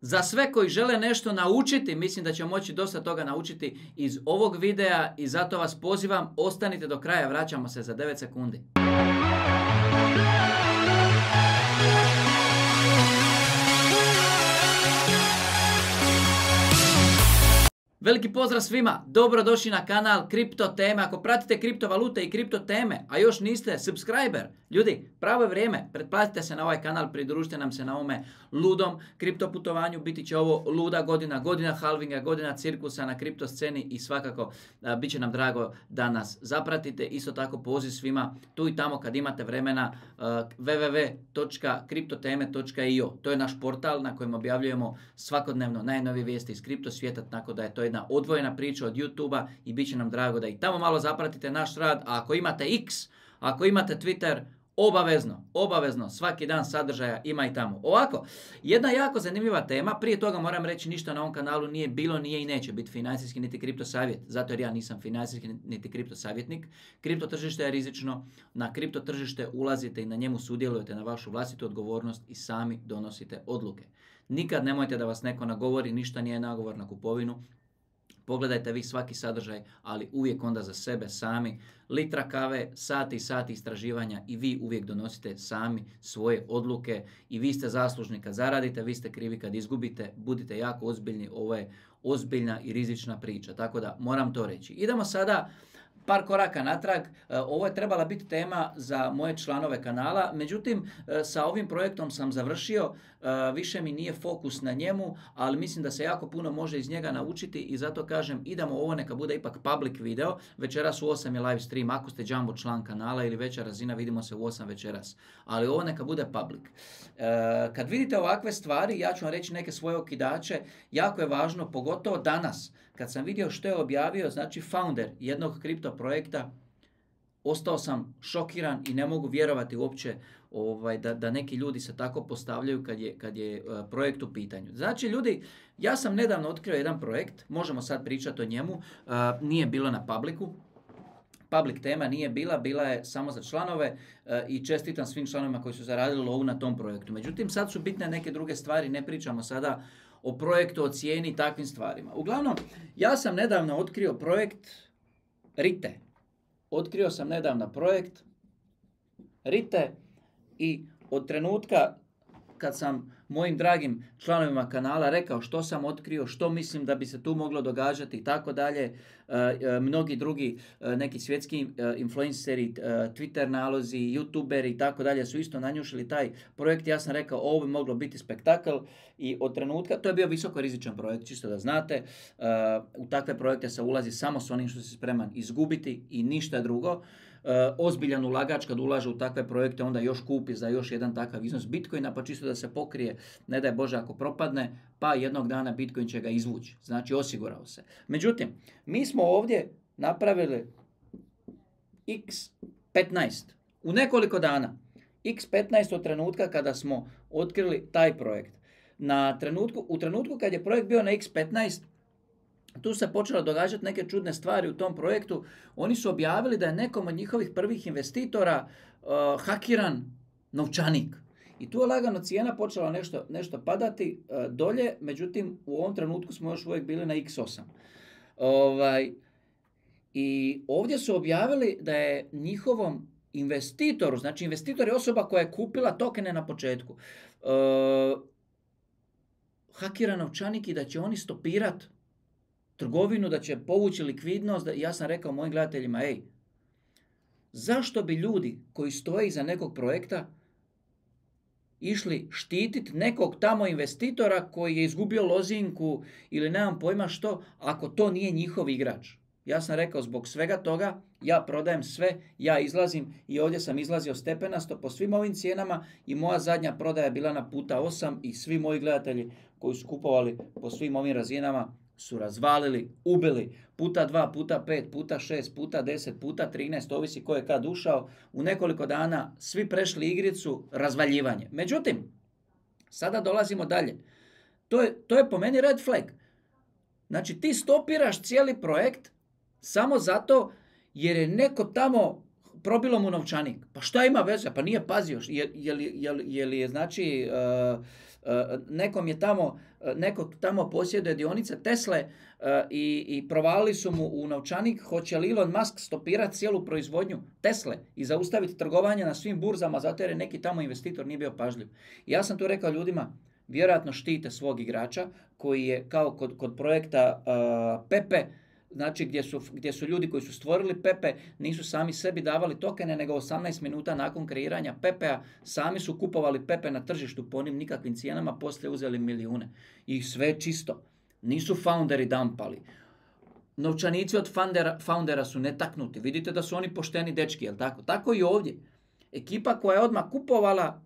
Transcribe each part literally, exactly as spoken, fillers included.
Za sve koji žele nešto naučiti, mislim da će moći dosta toga naučiti iz ovog videa i zato vas pozivam, ostanite do kraja, vraćamo se za devet sekundi. Veliki pozdrav svima, dobrodošli na kanal Kripto Teme. Ako pratite kriptovalute i kripto teme, a još niste subscriber, ljudi, pravo je vrijeme, pretplatite se na ovaj kanal, pridružite nam se na ovome ludom kripto putovanju. Biti će ovo luda godina, godina halvinga, godina cirkusa na kripto sceni i svakako a, bit će nam drago da nas zapratite. Isto tako poziv svima tu i tamo kad imate vremena a, w w w točka kriptoteme točka i o. To je naš portal na kojem objavljujemo svakodnevno najnovije vijesti iz kripto svijeta, tako da je to jedna odvojena priča od YouTube-a i bit će nam drago da i tamo malo zapratite naš rad. A ako imate X, ako imate Twitter, obavezno, obavezno, svaki dan sadržaja ima i tamo. Ovako, jedna jako zanimljiva tema, prije toga moram reći ništa na ovom kanalu nije bilo, nije i neće biti financijski niti kripto savjet, zato jer ja nisam financijski niti kripto savjetnik. Kripto tržište je rizično, na kripto tržište ulazite i na njemu sudjelujete na vašu vlastitu odgovornost i sami donosite odluke. Nikad nemojte da vas neko nagovori, ništa nije nagovor na kupovinu. Pogledajte vi svaki sadržaj, ali uvijek onda za sebe sami. Litra kave, sati i sati istraživanja i vi uvijek donosite sami svoje odluke i vi ste zaslužni kad zaradite, vi ste krivi kad izgubite. Budite jako ozbiljni, ovo je ozbiljna i rizična priča, tako da moram to reći. Idemo sada par koraka natrag. Ovo je trebala biti tema za moje članove kanala, međutim sa ovim projektom sam završio, više mi nije fokus na njemu, ali mislim da se jako puno može iz njega naučiti i zato kažem idemo ovo neka bude ipak public video. Večeras u osam je live stream, ako ste jumbo član kanala ili veća razina, vidimo se u osam večeras, ali ovo neka bude public. Kad vidite ovakve stvari, ja ću vam reći neke svoje okidače, jako je važno, pogotovo danas, kad sam vidio što je objavio, znači founder jednog kripto projekta, ostao sam šokiran i ne mogu vjerovati uopće ovaj, da, da neki ljudi se tako postavljaju kad je, kad je uh, projekt u pitanju. Znači ljudi, ja sam nedavno otkrio jedan projekt, možemo sad pričati o njemu, uh, nije bilo na publicu. Public tema nije bila, bila je samo za članove uh, i čestitam svim članovima koji su zaradili lovu na tom projektu. Međutim, sad su bitne neke druge stvari, ne pričamo sada o projektu, o cijeni i takvim stvarima. Uglavnom, ja sam nedavno otkrio projekt Rite. Otkrio sam nedavno projekt Rite i od trenutka kad sam mojim dragim članovima kanala rekao što sam otkrio, što mislim da bi se tu moglo događati i tako dalje, mnogi drugi neki svjetski influenceri, Twitter nalozi, youtuberi i tako dalje su isto nanjušili taj projekt. Ja sam rekao ovo bi moglo biti spektakl i od trenutka, to je bio visoko rizičan projekt, čisto da znate, u takve projekte se ulazi samo s onim što se spreman izgubiti i ništa drugo. Uh, ozbiljan ulagač kad ulaže u takve projekte onda još kupi za još jedan takav iznos Bitcoina pa čisto da se pokrije, ne daj Bože ako propadne, pa jednog dana Bitcoin će ga izvući, znači osigurao se. Međutim, mi smo ovdje napravili iks petnaest u nekoliko dana, iks petnaest od trenutka kada smo otkrili taj projekt. Na trenutku, u trenutku kad je projekt bio na iks petnaest, tu se počelo događati neke čudne stvari u tom projektu. Oni su objavili da je nekom od njihovih prvih investitora uh, hakiran novčanik. I tu je lagano cijena počela nešto, nešto padati uh, dolje, međutim u ovom trenutku smo još uvijek bili na iks osam. Ovaj, I ovdje su objavili da je njihovom investitoru, znači investitor je osoba koja je kupila tokene na početku, uh, hakiran novčanik i da će oni stopirati trgovinu, da će povući likvidnost. Da, ja sam rekao mojim gledateljima, ej, zašto bi ljudi koji stoje iza nekog projekta išli štititi nekog tamo investitora koji je izgubio lozinku ili nemam pojma što, ako to nije njihov igrač? Ja sam rekao zbog svega toga, ja prodajem sve, ja izlazim i ovdje sam izlazio stepenasto po svim ovim cijenama i moja zadnja prodaja je bila na puta osam i svi moji gledatelji koji su kupovali po svim ovim razinama su razvalili, ubili, puta dva, puta pet, puta šest, puta deset, puta trinaest, ovisi ko je kad ušao, u nekoliko dana svi prešli igricu, razvaljivanje. Međutim, sada dolazimo dalje. To je, to je po meni red flag. Znači ti stopiraš cijeli projekt samo zato jer je neko tamo probilo mu novčanik. Pa šta ima veze? Pa nije pazio. Je, je, je, je li je znači uh, nekom je tamo, neko tamo posjeduje dionice Tesle i, i provalili su mu u novčanik, hoće li Elon Musk stopirati cijelu proizvodnju Tesle i zaustaviti trgovanje na svim burzama zato jer je neki tamo investitor nije bio pažljiv. I ja sam tu rekao ljudima, vjerojatno štite svog igrača koji je kao kod, kod projekta uh, Pepe, znači gdje su, gdje su ljudi koji su stvorili Pepe nisu sami sebi davali tokene, nego osamnaest minuta nakon kreiranja Pepea sami su kupovali Pepe na tržištu po onim nikakvim cijenama, poslije uzeli milijune. I sve čisto. Nisu founderi dampali. Novčanici od foundera, foundera su netaknuti. Vidite da su oni pošteni dečki, jel tako? Tako i ovdje. Ekipa koja je odmah kupovala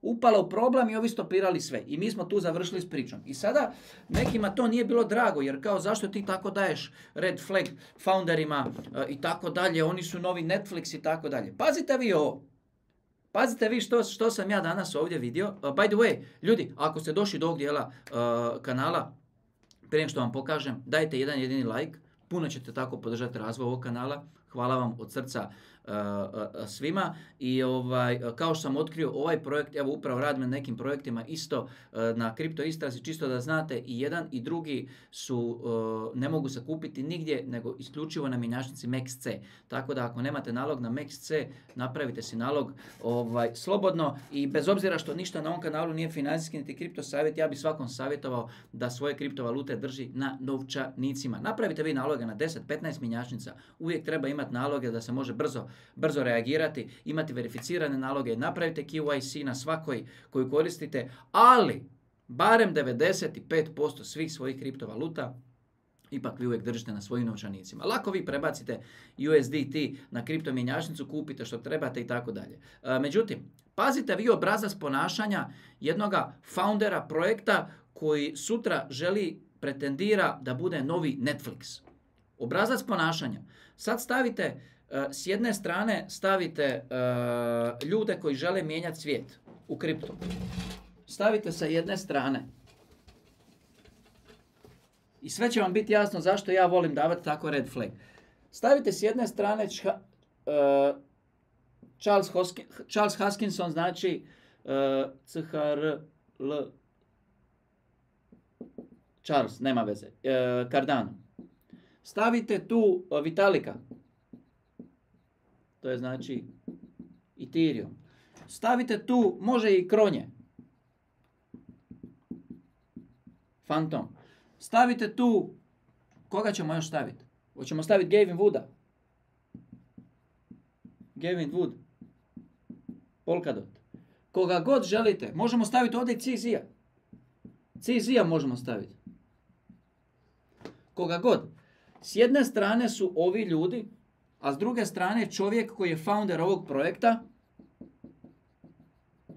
upala u problem i ovi stopirali sve. I mi smo tu završili s pričom. I sada nekima to nije bilo drago, jer kao zašto ti tako daješ red flag founderima uh, i tako dalje, oni su novi Netflix i tako dalje. Pazite vi ovo. Pazite vi što, što sam ja danas ovdje vidio. Uh, by the way, ljudi, ako ste došli do ovog dijela uh, kanala, prije nego što vam pokažem, dajte jedan jedini like. Puno ćete tako podržati razvoj ovog kanala. Hvala vam od srca uh, uh, svima. I ovaj, kao što sam otkrio ovaj projekt, evo upravo radim na nekim projektima isto uh, na kripto istrazi, čisto da znate i jedan i drugi su, uh, ne mogu se kupiti nigdje nego isključivo na mjenjačnici M E X C. Tako da ako nemate nalog na M E X C, napravite si nalog ovaj, slobodno i bez obzira što ništa na ovom kanalu nije financijski niti kripto savjet, ja bih svakom savjetovao da svoje kriptovalute drži na novčanicima. Napravite vi naloge na deset petnaest mjenjačnica, uvijek treba imati naloge da se može brzo, brzo reagirati, imati verificirane naloge, napravite Q I C na svakoj koju koristite, ali barem devedeset pet posto svih svojih kriptovaluta ipak vi uvijek držite na svojim novčanicima. Lako vi prebacite U S D T na kripto mjenjačnicu, kupite što trebate i tako dalje. Međutim, pazite vi obrazac ponašanja jednoga foundera projekta koji sutra želi, pretendira da bude novi Netflix. Obrazac ponašanja. Sad stavite, uh, s jedne strane stavite uh, ljude koji žele mijenjati svijet u kriptu. Stavite sa jedne strane. I sve će vam biti jasno zašto ja volim davati tako red flag. Stavite s jedne strane čha, uh, Charles, Hoskin, Charles Hoskinson, znači uh, C H R L Charles, nema veze, uh, Cardano. Stavite tu Vitalika, to je znači Ethereum. Stavite tu, može i Kronje, Phantom. Stavite tu, koga ćemo još staviti? Hoćemo staviti Gavin Wooda. Gavin Wood. Polkadot. Koga god želite. Možemo staviti ovdje C Z-a. C Z-a možemo staviti. Koga god. S jedne strane su ovi ljudi, a s druge strane čovjek koji je founder ovog projekta.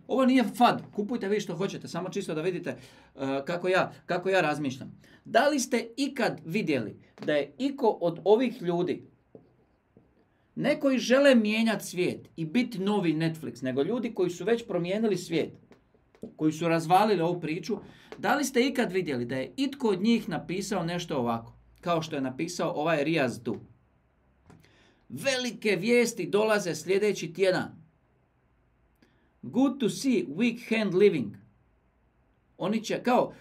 Ovo nije fad, kupujte vi što hoćete, samo čisto da vidite uh, kako, ja, kako ja razmišljam. Da li ste ikad vidjeli da je iko od ovih ljudi, ne koji žele mijenjati svijet i biti novi Netflix, nego ljudi koji su već promijenili svijet, koji su razvalili ovu priču, da li ste ikad vidjeli da je itko od njih napisao nešto ovako, kao što je napisao ovaj Riaz tu. Velike vijesti dolaze sljedeći tjedan. Good to see weak hand living. Oni će kao,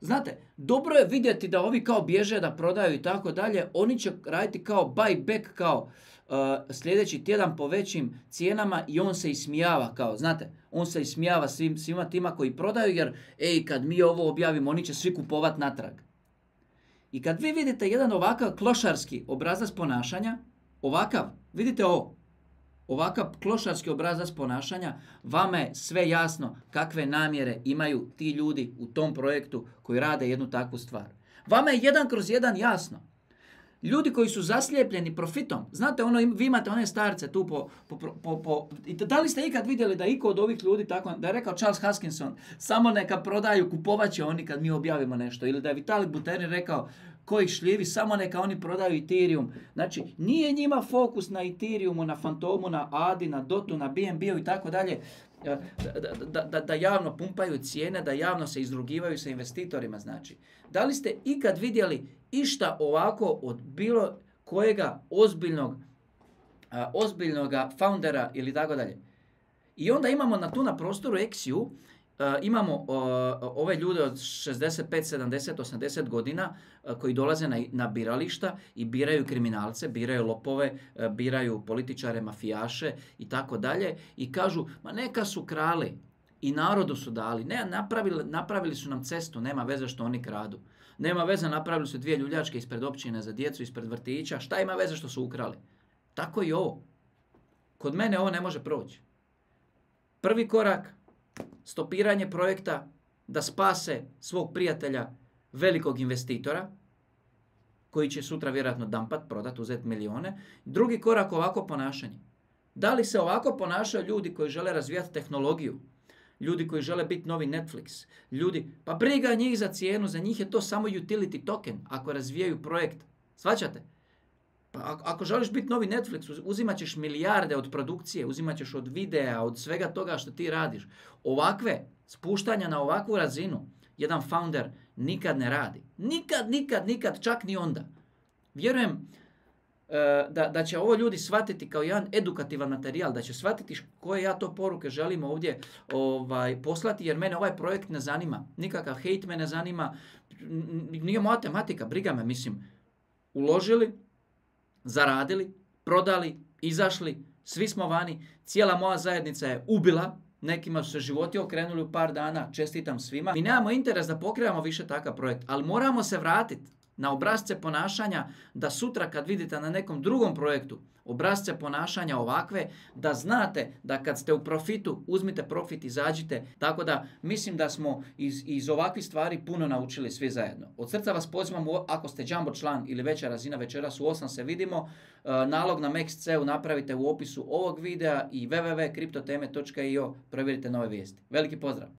znate, dobro je vidjeti da ovi kao bježe da prodaju i tako dalje. Oni će raditi kao buyback, kao uh, sljedeći tjedan po većim cijenama i on se ismijava kao, znate, on se ismijava svim, svima tima koji prodaju jer, ej, kad mi ovo objavimo, oni će svi kupovat natrag. I kad vi vidite jedan ovakav klošarski obrazac ponašanja, ovakav, vidite ovo, ovakav klošarski obrazac ponašanja, vama je sve jasno kakve namjere imaju ti ljudi u tom projektu koji rade jednu takvu stvar. Vama je jedan kroz jedan jasno. Ljudi koji su zaslijepljeni profitom, znate, ono, vi imate one starce tu po... po, po, po i da li ste ikad vidjeli da iko od ovih ljudi, tako, da je rekao Charles Hoskinson, samo neka prodaju, kupovat će oni kad mi objavimo nešto, ili da je Vitalik Buterin rekao, koji šljivi, samo neka oni prodaju Ethereum. Znači, nije njima fokus na Ethereumu, na Fantomu, na Adi, na Dotu, na B N B-u i tako dalje, da, da, da javno pumpaju cijene, da javno se izrugivaju sa investitorima, znači. Da li ste ikad vidjeli išta ovako od bilo kojega ozbiljnog, a, ozbiljnoga foundera ili tako dalje? I onda imamo na tu na prostoru X U Uh, imamo uh, ove ljude od šezdeset pet, sedamdeset, osamdeset godina uh, koji dolaze na, na birališta i biraju kriminalce, biraju lopove, uh, biraju političare, mafijaše i tako dalje i kažu, ma neka su krali i narodu su dali, ne, napravili, napravili su nam cestu, nema veze što oni kradu. Nema veze, napravili su dvije ljuljačke ispred općine za djecu, ispred vrtića, šta ima veze što su ukrali? Tako i ovo. Kod mene ovo ne može proći. Prvi korak, stopiranje projekta da spase svog prijatelja, velikog investitora, koji će sutra vjerojatno dampat, prodat, uzeti milijone. Drugi korak, ovako ponašanje. Da li se ovako ponašaju ljudi koji žele razvijati tehnologiju? Ljudi koji žele biti novi Netflix? Ljudi, pa briga njih za cijenu, za njih je to samo utility token ako razvijaju projekt. Shvaćate? Pa ako želiš biti novi Netflix, uzimat ćeš milijarde od produkcije, uzimat ćeš od videa, od svega toga što ti radiš. Ovakve, spuštanja na ovakvu razinu, jedan founder nikad ne radi. Nikad, nikad, nikad, čak ni onda. Vjerujem uh, da, da će ovo ljudi shvatiti kao jedan edukativan materijal, da će shvatiti koje ja to poruke želim ovdje ovaj, poslati, jer mene ovaj projekt ne zanima. Nikakav hejt me ne zanima, nije moja tematika, briga me, mislim, uložili, zaradili, prodali, izašli, svi smo vani, cijela moja zajednica je ubila, nekima su se životi okrenuli u par dana, čestitam svima. Mi nemamo interes da pokrenemo više takav projekt, ali moramo se vratiti na obrasce ponašanja da sutra kad vidite na nekom drugom projektu obrasce ponašanja ovakve, da znate da kad ste u profitu, uzmite profit, izađite. Tako da mislim da smo iz, iz ovakvih stvari puno naučili svi zajedno. Od srca vas pozivam, ako ste jumbo član ili veća razina, večeras u osam se vidimo. Nalog na Max.cu napravite u opisu ovog videa i w w w točka kriptoteme točka i o, provjerite nove vijesti. Veliki pozdrav!